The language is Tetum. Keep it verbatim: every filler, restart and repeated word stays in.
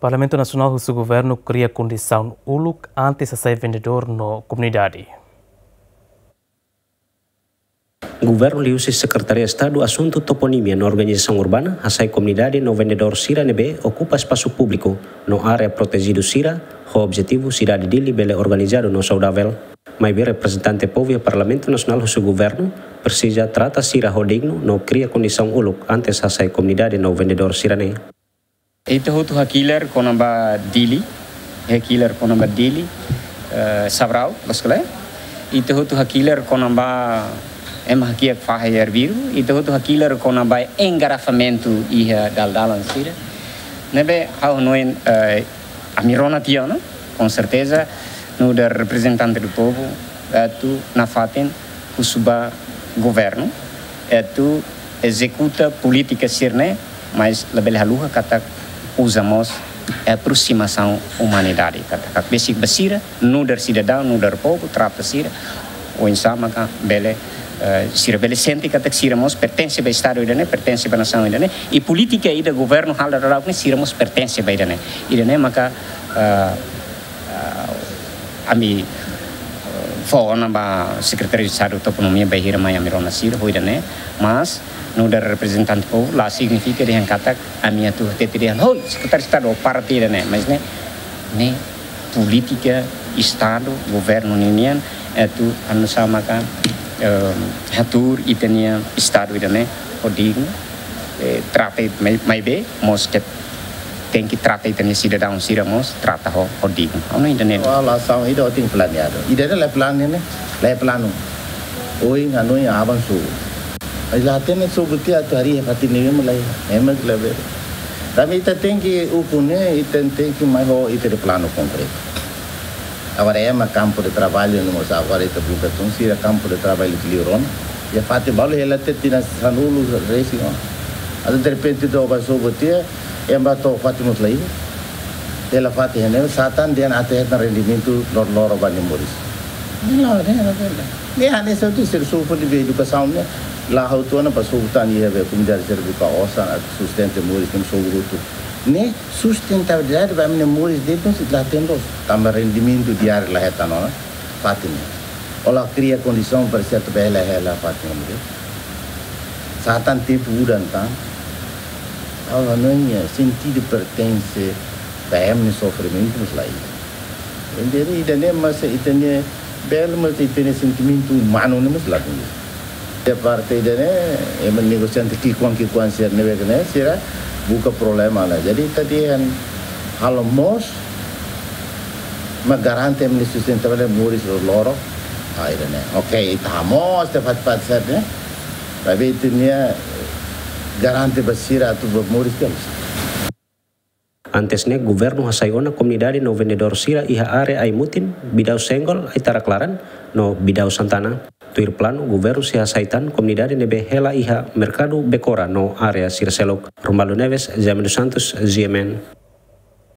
Parlamentu Nasionál husu governu kria kondisaun uluk antes hasai vendedór no komunidade. Governu liuhusi Sekretaria Estadu Asuntu Toponimia no Organizasaun Urbana hasai komunidade no vendedór sira ne'ebé okupa espasu públiku no área protejidu sira, ho objetivu sidade Dili bele organizadu no saudavel. Maibé reprezentante povu iha Parlamentu Nasionál husu governu presiza trata sira ho dignu no kria kondisaun uluk antes hasai komunidade no vendedór sira-ne'e. Ita hotu hakilar kona-ba Dili, hakilar kona-ba Dili, eh, Sabrau, loos ka lae? Ita hotu hakilar kona-ba ema hakiak fahe arbiru, ita hotu hakilar kona-ba engarrafamentu iha dalan-dalan sira. Ne'ebé ha'u hanoin, eh, ami rona tiha ona, com certeza, nu'udar reprezentante do povo, atu nafatin husu ba governu, atu ezekuta polítika sira-ne'e, mas labele haluha katak uza mós aproximasaun umanidade, katak besik ba sira, nu'udar sidadaun, nu'udar povu, trata sira oinsá maka bele, eh, sira bele sente katak sira mós pertense ba Estadu ida-ne'e, pertense ba nasaun ida-ne'e, i polítika ida governu halo daudaun ne'e sira mós pertense ba ida-ne'e. Ida-ne'e maka, eh, eh, ami, eh, fó ona ba Sekretaria Estadu Toponimia bainhira mai ami rona sira ho ida-ne'e, mas nu'udar reprezentante povu la signifika dehan katak ami atu hatete dehan, "Hoi, Sekretaria Estadu, parte ida-ne'e," mas ne'e, ne'e polítika Estadu, governu ninian, atu anu sama ka, eh, hatuur ita-nia Estadu ida-ne'e ho dignu, eh, trata mai, maibé mós ke tenke trata ita-nia sidadaun sira mós trata ho, ho dignu. Ha'u hanoin ida-ne'e. Wala asaun ida tenke planeadu. Ida-ne'e la planu ne'e, la planu. Ohin hanoin aban sobu. Ai la hatene sobu tiha atu harii iha fatin ne'ebé mak la iha, ema la bele. Tanba ita tenke ukun ne'e, ita tenke mai ho ita-nia planu konkretu. Agora ema kampu de traballu ne'e mós agora ita buka tun sira kampu de traballu liurona. Iha fatin balu hela tiha tinan sanulu resin ona. Atu derrepente to'o ba sobu tiha, ema to'o fatin mós la iha. Hela fatin ne'e, sá tan dehan atu hetan rendimentu lor-, loroloron ba nia moris. Ne'e la, ne'e la, ne'e la. Ne'e hanesan atu ser sobu de be edukasaun ne'e. La ha'u tuan ba sobu tan iha be komunidade sira buka osan atu sustenta moris ne'e sobu hotu. Ne'e sustentabilidade ba ami-nia moris de'it ne'e sei la tenke loos. Tanba rendimentu diáriu la hetan ona, fatin ne'e. Ó la kria kondisaun para sira atu bele hela fatin ne'e. Sá tan tempu udan tan. Ha'u hanoin sentidu pertense ba ema nia sofrimentu mós la iha. Jadi ida-ne'e mós ita-nia bele mós ita-nia sentimentu umanu ne'e mós la duni. Iha parte ida-ne'e, ema negosiante ki'ikoan-ki'ikoan sira ne'ebé ne'e, sira buka problema ona. Jadi ita dehan halo moos, mak garante ema nia sustentabilidade moris loroloron. Ah, ida-ne'e. Oke, ita hamoos tiha fatin-fatin sira-ne'e. Tapi ita-nia garante ba sira atu ba moris kedas. Antes ne'e, governu hasai ona komunidade no vendedór sira iha área Ai-Mutin, Bidau Senggol, Ai-Tarak Laran, no Bidau Santana. Tuir planu, governu sei hasai tan komunidade ne'ebé hela iha Merkadu Bekora no área sira seluk. Romualdo Neves, Jaime dos Santos, G M N.